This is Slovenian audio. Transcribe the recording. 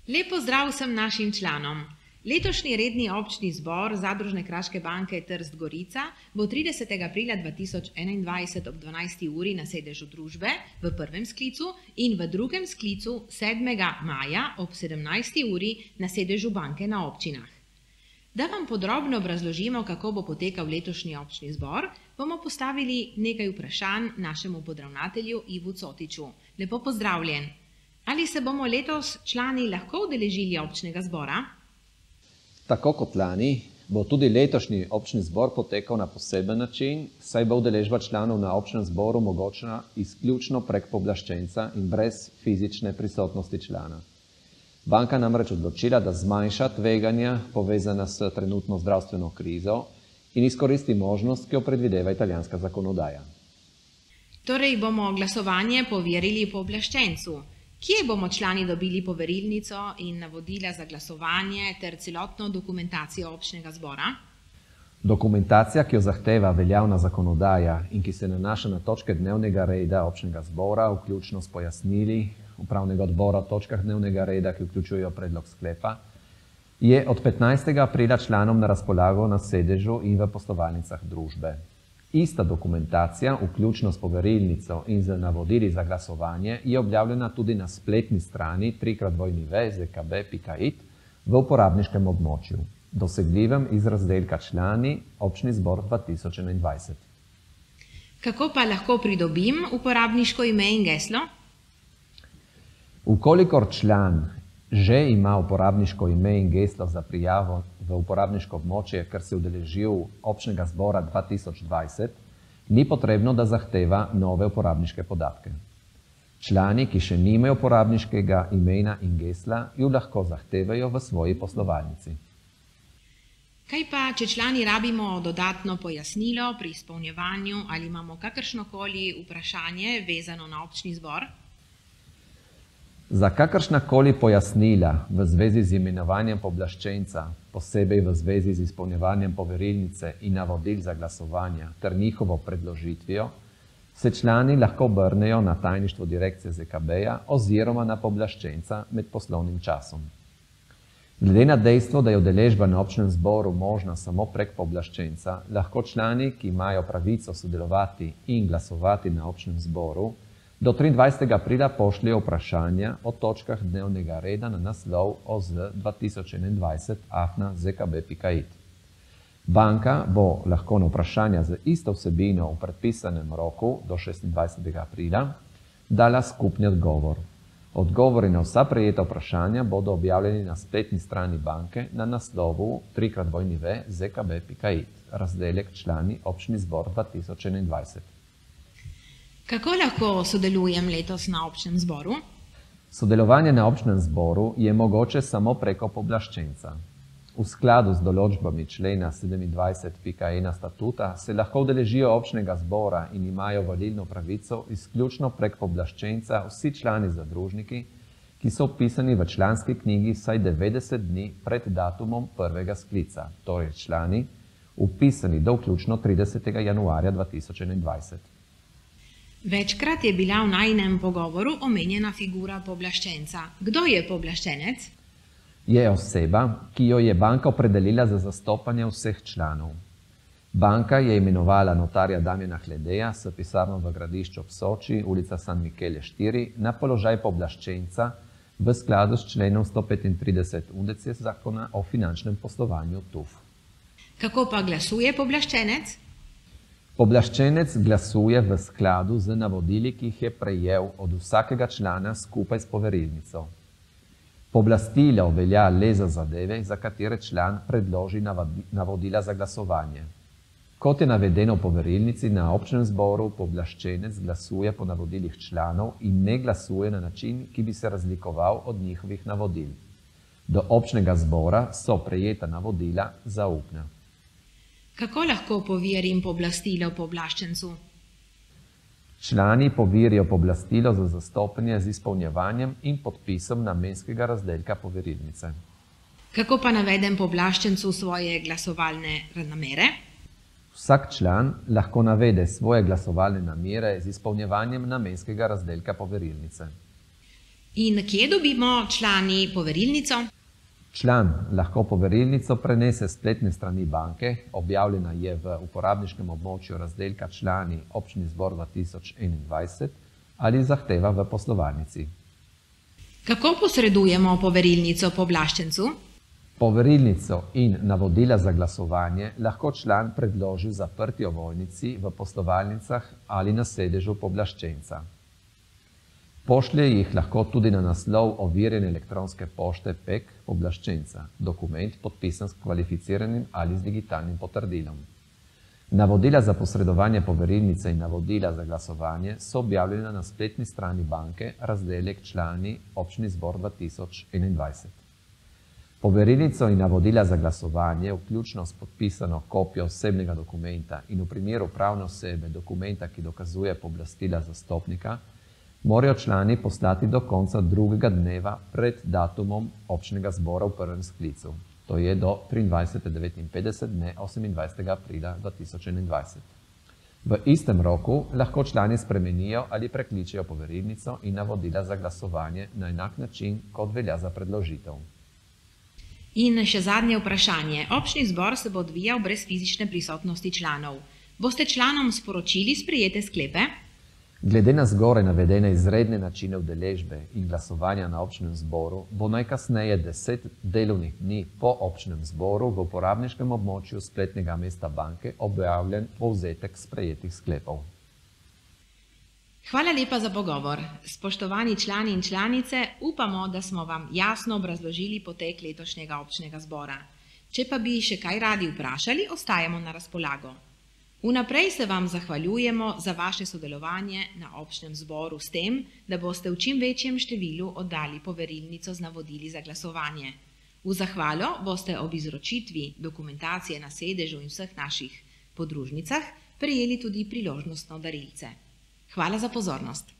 Lep pozdrav vsem našim članom. Letošnji redni občni zbor Zadružne kraške banke Trst Gorica bo 30. aprila 2021 ob 12. uri na sedežu družbe v prvem sklicu in v drugem sklicu 7. maja ob 17. uri na sedežu banke na občinah. Da vam podrobno obrazložimo, kako bo potekal letošnji občni zbor, bomo postavili nekaj vprašanj našemu podravnatelju Ivu Cotiču. Lepo pozdravljen. Ali se bomo letos člani lahko udeležili občnega zbora? Tako kot lani bo tudi letošnji občni zbor potekal na poseben način, saj bo udeležba članov na občnem zboru mogočna izključno prek pooblaščenca in brez fizične prisotnosti člana. Banka namreč odločila, da zmanjša tveganja povezana s trenutno zdravstveno krizo in izkoristi možnost, ki jo predvideva italijanska zakonodaja. Torej bomo glasovanje poverili pooblaščencu. Kje bomo člani dobili poverilnico in navodila za glasovanje ter celotno dokumentacijo občnega zbora? Dokumentacija, ki jo zahteva veljavna zakonodaja in ki se nanaša na točke dnevnega reda občnega zbora, vključno s pojasnili upravnega odbora o točkah dnevnega reda, ki vključujejo predlog sklepa, je od 15. aprila članom na razpolago na sedežu in v poslovalnicah družbe. Ista dokumentacija, vključno s poverilnico in z navodili za glasovanje, je objavljena tudi na spletni strani www.zekb.it v uporabniškem območju, dosegljivem iz razdelka Člani občni zbor 2021. Kako pa lahko pridobim uporabniško ime in geslo? Ukolikor član že ima uporabniško ime in geslo za prijavo v uporabniško območje, ker se je udeležil občnega zbora 2020, ni potrebno, da zahteva nove uporabniške podatke. Člani, ki še nimajo uporabniškega imena in gesla, ju lahko zahtevajo v svoji poslovalnici. Kaj pa, če člani rabimo dodatno pojasnilo pri izpolnjevanju ali imamo kakršnokoli vprašanje vezano na občni zbor? Za kakršnakoli pojasnila v zvezi z imenovanjem pooblaščenca, posebej v zvezi z izpolnjevanjem poverilnice in navodil za glasovanje ter njihovo predložitvijo, se člani lahko obrnejo na tajništvo direkcije ZKB-ja oziroma na pooblaščenca med poslovnim časom. Glede na dejstvo, da je udeležba na občnem zboru možna samo prek pooblaščenca, lahko člani, ki imajo pravico sodelovati in glasovati na občnem zboru, do 23. aprila pošljejo vprašanja o točkah dnevnega reda na naslov oz2021@zkb.it. Banka bo lahko na vprašanja z isto vsebino v predpisanem roku do 26. aprila dala skupni odgovor. Odgovori na vsa prejeta vprašanja bodo objavljeni na spletni strani banke na naslovu www.zkb.it, razdelek Člani občni zbor 2021. Kako lahko sodelujem letos na občnem zboru? Sodelovanje na občnem zboru je mogoče samo preko pooblaščenca. V skladu z določbami člena 27.1 statuta se lahko udeležijo občnega zbora in imajo volilno pravico izključno prek pooblaščenca vsi člani zadružniki, ki so vpisani v članski knjigi vsaj 90 dni pred datumom prvega sklica, torej člani, vpisani do vključno 30. januarja 2021. Večkrat je bila v najinem pogovoru omenjena figura pooblaščenca. Kdo je pooblaščenec? Je oseba, ki jo je banka opredelila za zastopanje vseh članov. Banka je imenovala notarja Damjana Hledeja s pisarno v Gradišču ob Soči, ulica San Michele 4, na položaj pooblaščenca v skladu s členom 135 UDC zakona o finančnem poslovanju TUF. Kako pa glasuje pooblaščenec? Pooblaščenec glasuje v skladu z navodili, ki jih je prejel od vsakega člana skupaj s poverilnico. Pooblastilo velja le za zadeve, za katere član predloži navodila za glasovanje. Kot je navedeno v poverilnici, na občnem zboru pooblaščenec glasuje po navodilih članov in ne glasuje na način, ki bi se razlikoval od njihovih navodil. Do občnega zbora so prejeta navodila zaupna. Kako lahko poverim pooblastilo pooblaščencu? Člani poverijo pooblastilo za zastopanje z izpolnjevanjem in podpisom namenskega razdelka poverilnice. Kako pa navedem pooblaščencu svoje glasovalne namere? Vsak član lahko navede svoje glasovalne namere z izpolnjevanjem namenskega razdelka poverilnice. In kje dobimo člani poverilnico? Član lahko poverilnico prenese s spletne strani banke, objavljena je v uporabniškem območju razdelka Člani občni zbor 2021 ali zahteva v poslovalnici. Kako posredujemo poverilnico pooblaščencu? Poverilnico in navodila za glasovanje lahko član predloži v zaprti ovojnici v poslovalnicah ali na sedežu pooblaščenca. Pošlje jih lahko tudi na naslov overjene elektronske pošte PEK pooblaščenca, dokument podpisan s kvalificiranim ali z digitalnim potrdilom. Navodila za posredovanje poverilnice in navodila za glasovanje so objavljena na spletni strani banke, razdelek Člani občni zbor 2021. Poverilnico in navodila za glasovanje, vključno s podpisano kopijo osebnega dokumenta in v primeru pravne osebe dokumenta, ki dokazuje pooblastila zastopnika, morajo člani poslati do konca drugega dneva pred datumom občnega zbora v prvem sklicu, to je do 23.59 dne 28. aprila 2021. V istem roku lahko člani spremenijo ali prekličejo poverilnico in navodila za glasovanje na enak način, kot velja za predložitev. In še zadnje vprašanje. Občni zbor se bo odvijal brez fizične prisotnosti članov. Boste članom sporočili sprejete sklepe? Glede na zgoraj navedene izredne načine udeležbe in glasovanja na občnem zboru, bo najkasneje 10 delovnih dni po občnem zboru v uporabniškem območju spletnega mesta banke objavljen povzetek sprejetih sklepov. Hvala lepa za pogovor. Spoštovani člani in članice, upamo, da smo vam jasno obrazložili potek letošnjega občnega zbora. Če pa bi še kaj radi vprašali, ostajamo na razpolago. Vnaprej se vam zahvaljujemo za vaše sodelovanje na občnem zboru s tem, da boste v čim večjem številu oddali poverilnico z navodili za glasovanje. V zahvalo boste ob izročitvi dokumentacije na sedežu in vseh naših podružnicah prejeli tudi priložnostno darilce. Hvala za pozornost.